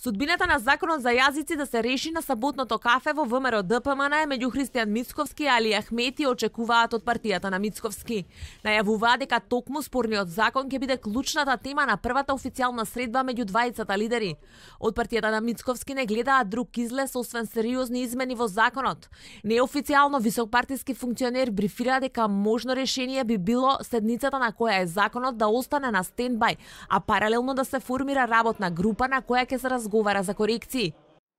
Судбината на законот за јазици да се реши на саботното кафе во ВМРО ДПМН меѓу Христијан Мицковски и Али Ахмети очекуваат од партијата на Мицковски. Најавуваат дека токму спорниот закон ќе биде клучната тема на првата официјална средба меѓу двајцата лидери. Од партијата на Мицковски не гледаат друг излез освен сериозни измени во законот. Неофицијално високпартиски функционер брифира дека можно решение би било седницата на која е законот да остане на стендбај, а паралелно да се формира работна група на која ќе се разговара за корекции.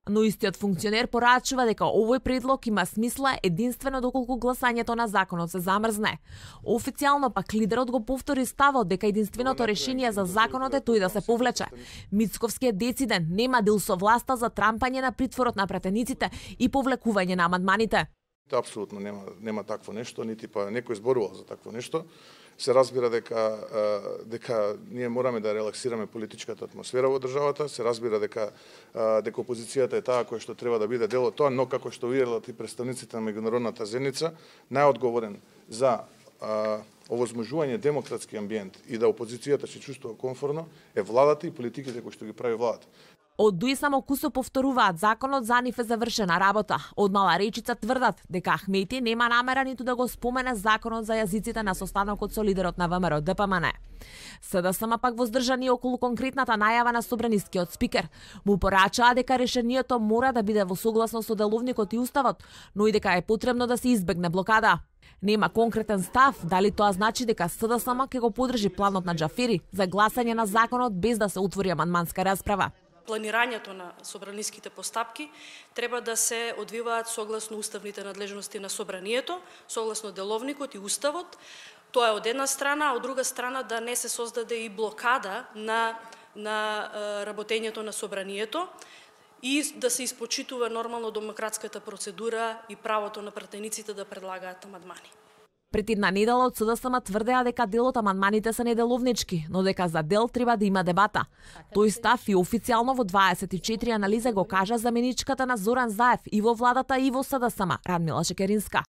Но истиот функционер порачува дека овој предлог има смисла единствено доколку гласањето на законот се замрзне. Официјално пак лидерот го повтори ставот дека единственото решение за законот е тој да се повлече. Мицковски е дециден, нема дел со власта за трампање на притворот на пратениците и повлекување на амандманите. Апсолутно нема такво нешто, нити па некој зборувал за такво нешто. Се разбира дека ние мораме да релаксираме политичката атмосфера во државата, се разбира дека опозицијата е таа која што треба да биде дел од тоа, но како што виделат и представниците на меѓународната заедница, најодговорен за овозможување демократски амбиент и да опозицијата се чувствува комфортно е владата и политиките кои што ги прави владата. Од Дуи само кусо повторуваат законот за нив е завршена работа. Од Мала Речица тврдат дека Ахмети нема намера ниту да го спомене законот за јазиците на состанокот со лидерот на ВМРО ДПМН. СДСМ пак воздржани околу конкретната најава на собранискиот спикер. Му порачаа дека решението мора да биде во согласно со деловникот и уставот, но и дека е потребно да се избегне блокада. Нема конкретен став дали тоа значи дека СДСМ ќе го поддржи планот на Џафери за гласање на законот без да се отвори амандманска расправа. Планирањето на собраниските постапки треба да се одвиваат согласно уставните надлежности на собранието, согласно деловникот и уставот. Тоа е од една страна, а од друга страна да не се создаде и блокада на работењето на собранието и да се испочитува нормално демократската процедура и правото на пратениците да предлагаат амандмани. Пред една недела од СДСМ тврдеа дека дел од амандманите се неделовнички, но дека за дел треба да има дебата. Тој став и официјално во 24 анализа го кажа заменичката на Зоран Заев и во владата и во СДСМ, Радмила Шекеринска.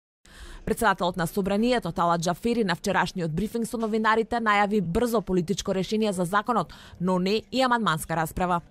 Председателот на собранието Талат Џафери на вчерашниот брифинг со новинарите најави брзо политичко решение за законот, но не и амандманска расправа.